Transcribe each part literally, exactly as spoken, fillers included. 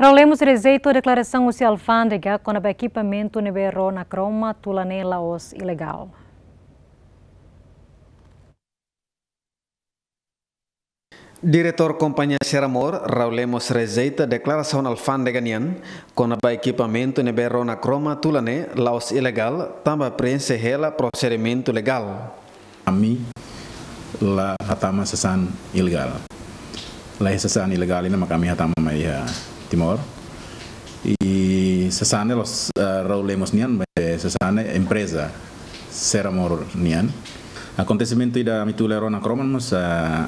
Raul Lemos rejeita deklarasaun husi alfándega kona-ba ekipamentu ne'ebé rona kroma tula ne'e la'ós ilegál. Diretór Kompañia Seramor, Raul Lemos rejeita deklarasaun alfándega nian kona-ba ekipamentu ne'ebé rona kroma tula ne'e la'ós ilegál, tanba preenxe hela prosedimentu legál. Ami la hatama sasán ilegál. La iha sasán ilegál ida mak ami hatama mai iha Timor. I sasán ne'e la'ós, eh, Raul Lemos nian, maibé sasán ne'e empreza Seramor nian. Akontesimentu ida ami tula rona kroma mós, eh,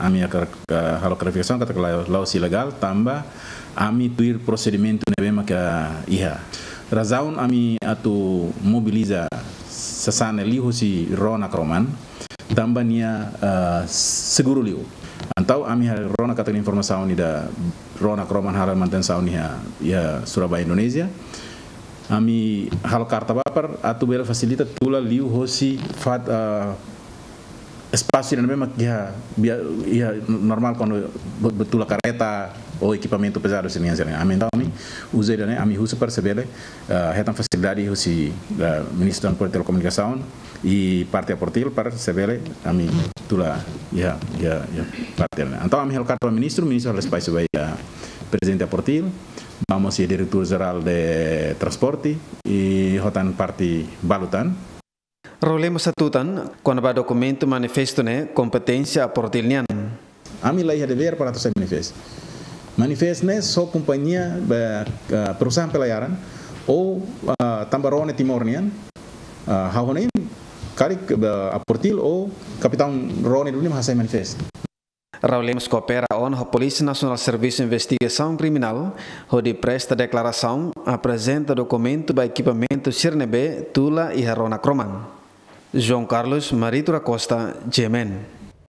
ami hakarak, eh, halo klarifikasaun katak la, la'ós ilegál, tanba ami tuir prosedimentu ne'ebé maka iha. Razaun ami atu mobiliza sasán ne'e liuhosi rona kroman, tanba nia, eh, seguru liu. Entaun ami rona katak informasaun ida rona kroman halo manutensaun iha, iha Surabaya, Indonézia. Ami halo karta ba para atu bele fasilita tula liuhosi fat, eh, espasu ida ne'ebé mak iha, bia-, iha normál kuandu be-, be tula kareta ou ekipamentu pezadu sira-nian, sira-nian. Ami entaun ami uza ida-ne'e, ami husu para se bele, eh, hetan fasilidade husi, eh, Ministru Transporte Telekomunikasaun i parte APROTIL para se bele ami tula iha, iha, iha parte ne'e. Entaun ami halo karta ba ministru, ministru halo despaxu ba iha prezidente APROTIL, ba mós iha diretór jerál de transporte i hotu tan parte balu tan. Raul Lemos hatutan, kona-ba dokumentu manifestu ne'e kompeténsia APROTIL nian. Ami la iha devér para atu hasai manifestu. Manifestu ne'e só kompañia, be, ah, perusahaan pelayaran ou, ah, tanba rona ne'e Timor nian, ah, ha'u hanoin karik, be, APROTIL ou kapitaun rona ne'e duni mak hasai manifestu. Raul Lemos koopera ona ho Polísia Nasionál Servisu Investigasaun Kriminál hodi presta deklarasaun, aprezenta dokumentu ba ekipamentu sira ne'ebé tula iha rona kroman. João Carlos Marito da Costa, GMN.